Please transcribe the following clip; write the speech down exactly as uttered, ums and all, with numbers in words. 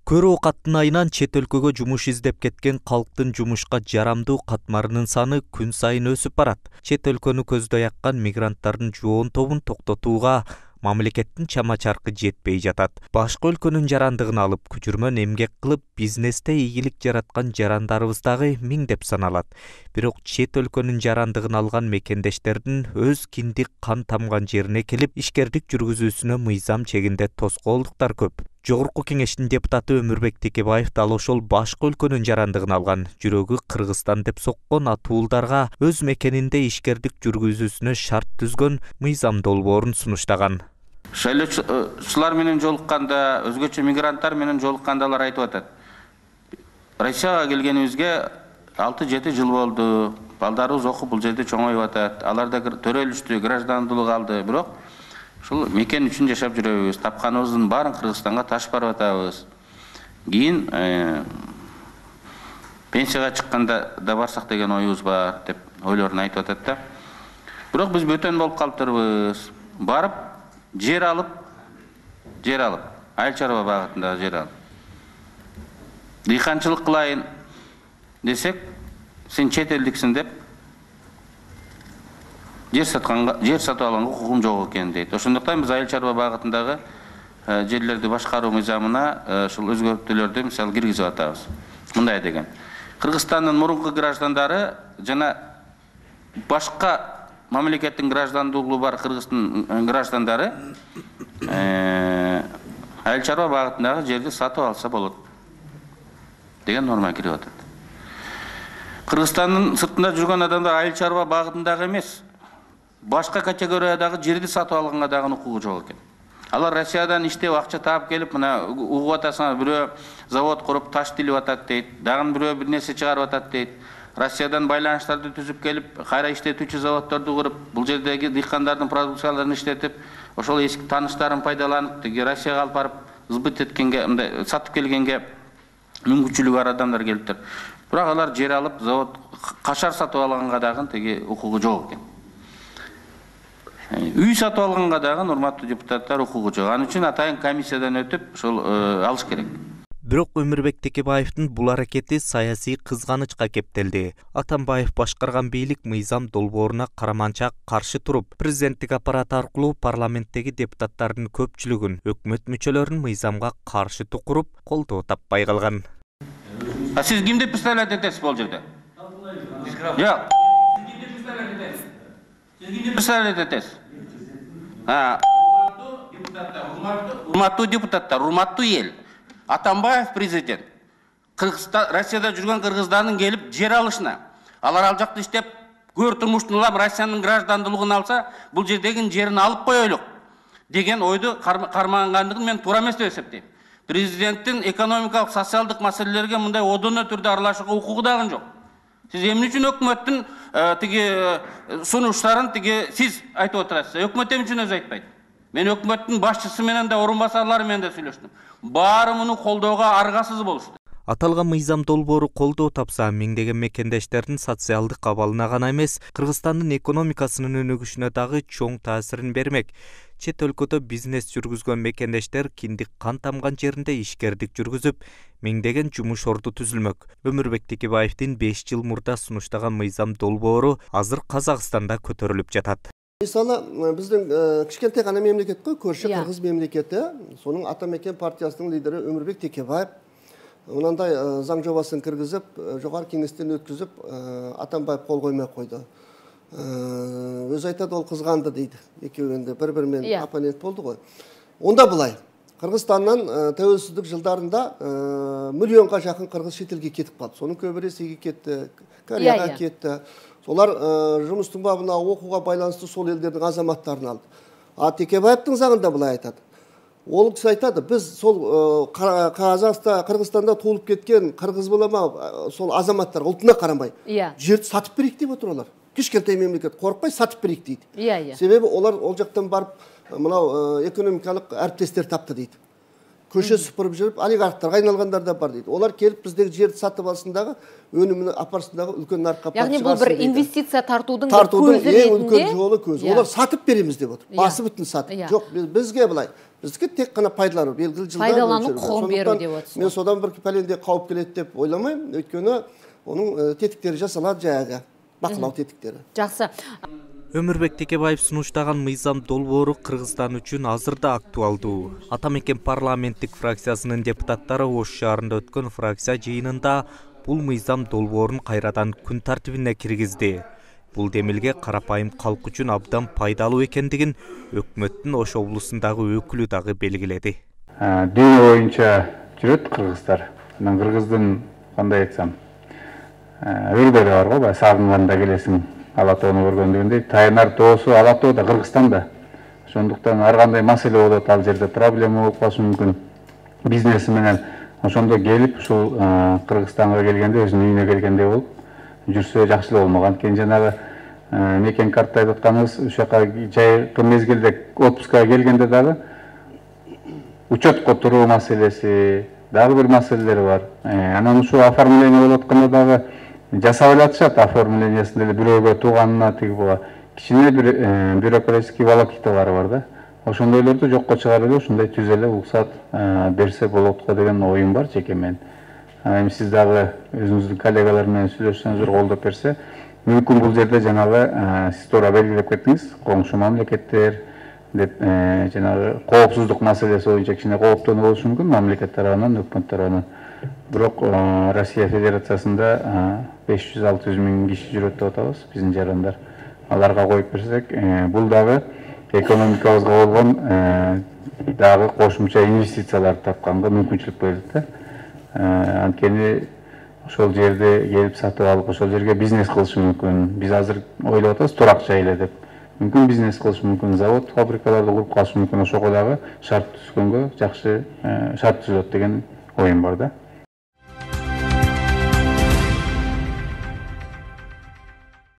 Көрүү каттынайынан чет өлкөгө жумуш издеп кеткен калктын жумушка жарамдуу катмарынын саны күн сайын өсүп барат. Чет өлкөнү көздөй аккан мигранттардын жоон тобун токтотууга мамлекеттин чама-чаркы жетпей жатат. Башка өлкөнүн жарандыгын алып, күчүрмөн эмгек кылып, бизнесте ийгилик жараткан жарандарыбыз дагы миңдеп саналат. Бирок чет өлкөнүн жарандыгын алган мекендештердин өз киндик кан тамган жерине келип, ишкердик жүргүзүүсүнө мыйзам чегинде тоскоолдуктар көп. Жогорку кеңештин депутаты Өмүрбек Текебаев дал ошол башка өлкөнүн жарандыгын алган, жүрөгү Кыргызстан деп соккон атуулдарга өз мекенинде ишкердик жүргүзүүсүнө шарт түзгөн мыйзам долбоорун сунуштаган. Шайлоочулар менен жолукканда, өзгөчө мигранттар менен жолукканда алар айтып атат. Россияга келгенибизге алты жети жыл болду. Балдарыбыз окуп бул жерде чоңоюп атат. Алар да төрөлүштү, граждандуулук алды. Бирок ушул мекен үчүн жашап жүрөбүз. Тапканыбыздын баарын Кыргызстанга ташып барып атабыз. Кийин пенсияга чыкканда да барсак деген оюбуз бар деп ойлорун айтып атат да. Бирок биз бөтөн болуп калыптырбыз. Барып жер алып, жер алып, айыл чарба багытындагы жер алып. Дыйканчылык кылайын десек, сен чет элдиксиң деп жер сатканга, жер сатып алганга укугум жок экен дейт. Ошондуктан биз айыл чарба багытындагы жерлерди башкаруу мыйзамына ушул өзгөртүүлөрдү мисалы киргизип атабыз. Мындай деген. Кыргызстандын мурунку граждандары жана башка мамлекеттин граждандуулугу бар Кыргыздын граждандары айыл чарба багытындагы жерди сатып алса болот деген норма кирип атат. Кыргызстандын сыртында жүргөн адамдар айыл чарба багытындагы эмес, башка категориядагы жерди сатып алганга дагы укугу жок экен. Алар Россиядан иштеп акча таап келип, мына угуп атасыңар, бирөө завод куруп таш тилип атат дейт, дагы бирөө бир нерсе чыгарып атат дейт. Россиядан байланыштарды түзүп келип, кайра иштетүүчү заводдорду куруп, бул жердеги дыйкандардын продукцияларын иштетип, ошол эски тааныштарын пайдаланып, тиги Россияга алып барып сбыт эткенге, мындай сатып келгенге мүмкүнчүлүгү бар адамдар келиптир. Бирок алар жер алып, завод кашар сатып алганга дагы тиги укугу жок экен. Үй сатып алганга дагы урматтуу депутаттар укугу жок. Анын үчүн атайын комиссиядан өтүп, ошол алыш керек. Бирок Өмүрбек Текебаевдин бул аракети саясий кызганычка кептелди. Атамбаев башкарган бийлик мыйзам долбооруна караманча каршы туруп, президенттик аппарат аркылуу парламенттеги депутаттардын көпчүлүгүн, өкмөт мүчөлөрүн мыйзамга каршы тукуруп, колдоо таппай калган. А сиз кимди представлять этесиз бул жерде? Жок. Сиз кимди представлять этесиз? А, урматтуу депутаттар, урматтуу эл. Атамбаев президент. Кыргызстан, Россияда жүргөн кыргыздардын келип жер алышына. Алар ал жакта иштеп, көр турмуштун улам Россиянын граждандуулугун алса, бул жердеги жерин алып коелук деген ойду кармангандыгын мен туура эмес деп эсептейм. Президенттин экономикалык, социалдык маселелерге мындай одоно түрдө аралашууга укугу дагы жок. Сиз эмне үчүн өкмөттүн тиги сунуштарын тиги сиз айтып отурасыз? Өкмөт эмне үчүн өзү айтпайт? Мен өкмөттүн башчысы менен да, орун басарлары менен да сүйлөштүм. Баары муну колдоого аргасыз болушту. Аталган мыйзам долбоору колдоо тапса, миңдеген мекендештердин социалдык абалына гана эмес, Кыргызстандын экономикасынын өнүгүшүнө дагы чоң таасирин бермек. Чет өлкөдө бизнес жүргүзгөн мекендештер киндик кан тамган жеринде ишкердик жүргүзүп, миңдеген жумуш орду түзүлмөк. Өмүрбек Текебаевдин беш жыл мурда сунуштаган мыйзам долбоору азыр Казакстанда көтөрүлүп жатат. Мисалы, биздин кичкентай гана мемлекет кой, көршү Кыргыз мемлекети, сонун Ата мекен партиясынын лидери Өмүрбек Текебаев мындай заң жобасын киргизип, жогорку кеңештен өткүзүп, Атамбаев кол коймой койду. Өзү айтат, ол кызганды дейт. Экөөндө бири-бири менен оппонент болду го. Онда булай. Кыргызстандын тәуелсиздик жылдарында миллионга жакын кыргыз чет элге кетип калды. Сонун көбү Ресейге кетти, Кореяга кетти. Олар жумуштун бабына, окууга байланыштуу сол элдердин азаматтарын алды. А Текебаевдин заңында булай айтат. Ол киши айтады, биз сол Казакстанда, Кыргызстанда туулуп кеткен кыргыз булама сол азаматтар ултуна карамай, жерди сатып берейик деп отур алар. Кичкентай мемлекет коркпой сатып берейик дейт. Себеби олар ол жактан барып, мынау экономикалык әріптестер тапты дейт. көшө сыпырып жүрүп олигархтарга айналгандар да бар дейт. Олар келип биздеги жерди сатып алсын дагы, өнүмүн апарсын дагы, үлкөн нарыкка апарып чыгарсын. Ягни бул бир инвестиция тартуудун көзү ретинде. Эң үлкөн жолу көзү. Олар сатып беребиз деп отур. Басы бүтүн сатып. Жок, бизге былай. Бизге тек гана пайдалануу, белгилүү жылдар пайдалануу кугун берүү деп атасыз. Мен содан бир пәлендей калып келет деп ойламайм, өйткөнү онун тетиктери жасалат жайга, бакылоо тетиктери. Жакшы. Өмүрбек Текебаев сунуштаган мыйзам долбоору Кыргызстан үчүн азырда актуалдуу. Атамекен парламенттик фракциясынын депутаттары Ош шаарында өткөн фракция жыйынында бул мыйзам долбоорун кайрадан күн тартибине киргизди. Бул демилге карапайым калк үчүн абдан пайдалуу экендигин өкмөттүн Ош облусундагы өкүлү дагы белгиледи. Дүйнө боюнча жүрөт кыргыздар. Анан кыргыздын кандай айтсам, өрлөрү бар го, баягы сагынганда келесиң. Алатоону көргөн дегендей, таянар тоосу Алатоо да Кыргызстанда. Ошондуктан ар кандай маселе болот, ал жерде проблема болуп калышы мүмкүн. Бизнеси менен ошондо келип, ушул Кыргызстанга келгенде, өзүнүн үйүнө келгендей болуп жүрсө жакшы эле болмок. Анткени жанагы мекен картта айтып атканыбыз, ушул жака жайкы мезгилде отпускага келгенде дагы учетко туруу маселеси, дагы бир маселелери бар. Анан ушул оформление болуп атканда дагы жасап элатышат, оформлениясында эле бирөөгө тууганына тиги буга кичине бир бюрократический волокиталары бар да. Ошондойлорду жокко чыгарып эле ушундай түз эле уруксат берсе болот го деген оюм бар жеке менин. Эми сиз дагы өзүңүздүн коллегалар менен сүйлөшсөңүздөр, колдоп берсе, мүмкүн бул жерде жанагы сиз туура белгилеп кеттиңиз, коңшу мамлекеттер деп жанагы коопсуздук маселеси боюнча кичине кооптонуу болушу мүмкүн мамлекет тарабынан, өкмөт тарабынан. Бирок Россия Федерациясында беш жүз алты жүз миң киши жүрөт деп атабыз, биздин жарандар. Аларга коюп берсек, бул дагы экономикабызга болгон дагы кошумча инвестицияларды тапканга мүмкүнчүлүк берет да. Анткени ошол жерде келип сатып алып, ошол жерге бизнес кылышы мүмкүн. Биз азыр ойлоп атабыз турак жай эле деп. Мүмкүн бизнес кылышы мүмкүн, завод, фабрикаларды куруп калышы мүмкүн. Ошого дагы шарт түзгөнгө жакшы шарт түзүлөт деген оюм бар да.